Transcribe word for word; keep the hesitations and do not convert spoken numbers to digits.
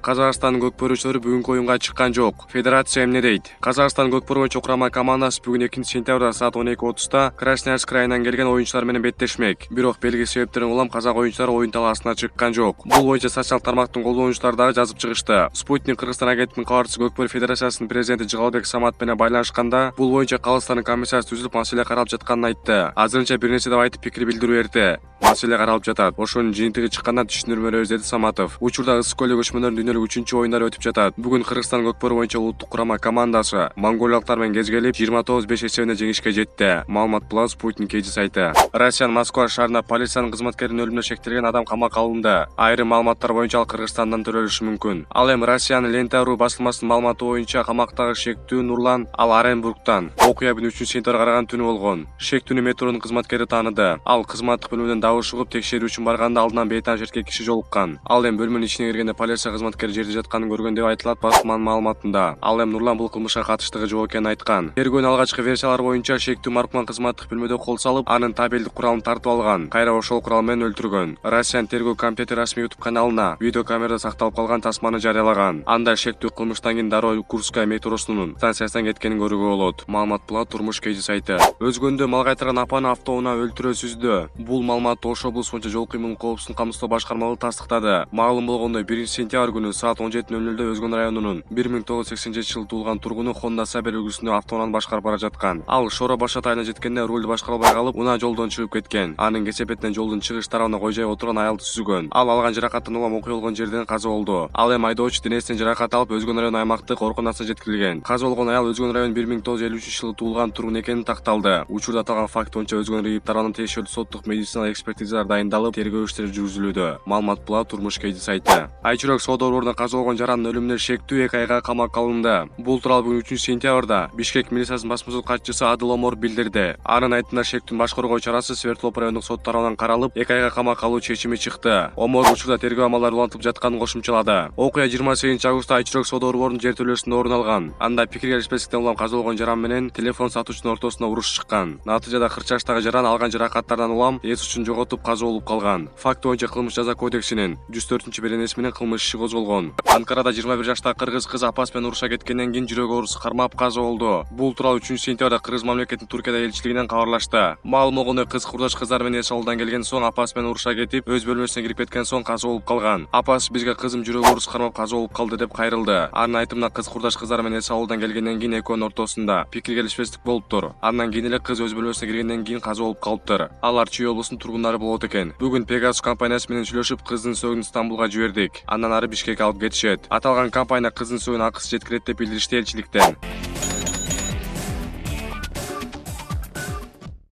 Казакстандын көкпөрүүчүлөрү бүгүнкү оюнга чыккан жок. Федерация эмне дейт? Казакстан көкпөрүү боюнча курама командасы бүгүн экинчи сентябрда саат он эки отузда Красноярск крайынан келген оюнчулар менен беттешмек. Бирок белгисиз себептерден улам казак оюнчулары оюн талаасына чыккан жок. Бул боюнча социалдык тармактын колдонуучулары дагы жазып чыгышты. Спутник Кыргызстан агенттигинин кабарчысы Көкпөрүү Федерациясынын президенти Жыгалбек Самат менен байланышканда, бул боюнча калыстардын комиссиясы түзүлүп, маселе каралып жатканын айтты. Азырынча бир нерсе деп айтып пикир билдирүү эрте. Маселе каралып жатат. Ошонун жыйынтыгы чыкканда түшүндүрмө беребиз, деди Саматов. Учурда ысык көлдө көчмөнөрдүн дүйнөлүк үчүнчү оюндары өтүп жатат. Бүгүн Кыргызстан көкпөрүү боюнча улуттук курама командасы монголиялыктар менен кезгелип жыйырма тогуз беш эсебинде жеңишке жетти. Маалымат Плюс Спутник эйди сайты. Россиянын Москва шаарында полициянын кызматкеринин өлүмүнө шектелген адам камакка алынды. Айрым маалыматтар боюнча ал Кыргызстандан төрөлүшү мүмкүн. Ал эми Россиянын Лента.ру басылмасынын маалыматы боюнча камактагы шектүү Нурлан ал Оренбургтан. Окуя үчүнчү сентябрга караган түнү болгон. Шектүүнү метронун кызматкери тааныды. Ал кызматтык бөлмөдөн дабыш угуп текшерүү үчүн барганда алдынан бейтааныш эркек киши жолуккан. Ал эми бөлмөнүн ичине киргенде полиция кызматкери жерде жатканын көргөн деп айтылат басылманын маалыматында. Ал эми Нурлан бул кылмышка катыштыгы жок экенин айткан. Тергөөнүн алгачкы версиялары боюнча шектүү маркуман кызматтык бөлмөдө кол салып, анын табелдик куралын тартып алган. Кайра ошол курал менен өлтүргөн. Россиянын тергөө комитети расмий YouTube каналына видео камерада сакталып калган тасманы жарыялаган. Анда шектүү кылмыштан кийин дароо Курская метросунун станциясынан кеткенин көрүүгө болот. Маалымат Плат Турмуш Кеди сайты. Өзгөндө мал кайтарган апаны автоунаа өлтүрө сүздү. Бул маалыматты Ош облусу боюнча жол кыймылын коопсуздугун камсыздоо башкармалыгы тастыктады. Маалым болгондой, биринчи сентябрь күнү саат он жети нөл нөлдө Өзгөн районунун бир миң тогуз жүз сексен жетинчи жылы туулган тургуну Honda Saber үлгүсүндө автоунааны башкарып бара жаткан. Ал Шора Баш айына жеткенде рулду башкара албай калып, унаа жолдон чыгып кеткен. Анын кесепетинен жолдун чыгыш тарабына кой жайып отурган аялды сүзгөн. Ал алган жаракаттан улам окуя болгон жерден каза болду. Ал эми айдоочу денесинен жаракат алып Өзгөн район аймактык ооруканасына жеткирилген. Каза болгон аял Өзгөн район бир миң тогуз жүз элүү үчүнчү жылы туулган тургун экени такталды. Учурда аталган факт боюнча Өзгөн район тарабынан тиешелүү соттук медициналык экспертизалар дайындалып, тергөө иштери жүргүзүлүүдө. Маалымат Плат Турмуш Кеди сайты. Айчүрөк соода борборунда каза болгон жаранын өлүмүнө шектүү эки айга камакка алынды. Бул тууралуу бүгүн үчүнчү сентябрда Бишкек милициясынын басма сөз катчысы Адыл Омор билдирди. Анын айтымында шектүүнүн баш коргоо чарасы Свердлов райондук сот тарабынан каралып, эки айга камакка алуу чечими чыкты. Омор учурда тергөө амалдары улантылып жатканын кошумчалады. Окуя жыйырма сегизинчи августта Айчүрөк соода борборунун жер төлөөсүндө орун алган. Анда пикир келишпестиктен улам каза болгон жаран менен телефон сатуучунун ортосуна уруш чыккан. Натыйжада кырк жаштагы жаран алган жаракаттардан улам эс учун жоготуп каза болуп калган. Факт боюнча кылмыш жаза кодексинин жүз төртүнчү беренеси менен кылмыш иши козголгон. Анкарада жыйырма бир жаштагы кыргыз кыз апасы менен уруша кеткенден кийин жүрөк ооруусу кармап каза болду. Бул тууралуу үчүнчү сентябрда Кыргыз мамлекетинин Туркияда элчилигинен кабарлашты. Маалым болгондой, кыз курдаш кыздар менен эс алуудан келген соң апасы менен уруша кетип, өз бөлмөсүнө кирип кеткен соң каза болуп калган. Апасы бизге кызым жүрөк оорусу кармап каза болуп калды деп кайрылды. Анын айтымында кыз курдаш кыздар менен эс алуудан келгенден кийин экөөнүн ортосунда пикир келишпестик болуптур. Андан кийин эле кыз өз бөлмөсүнө киргенден кийин каза болуп калыптыр. Алар Чүй облусунун тургундары болот экен. Бүгүн Pegasus компаниясы менен сүйлөшүп, кыздын сөөгүн Стамбулга жибердик. Андан ары Бишкекке алып кетишет. Аталган компания кыздын сөөгүн акысыз жеткирет деп билдиришти элчиликтен.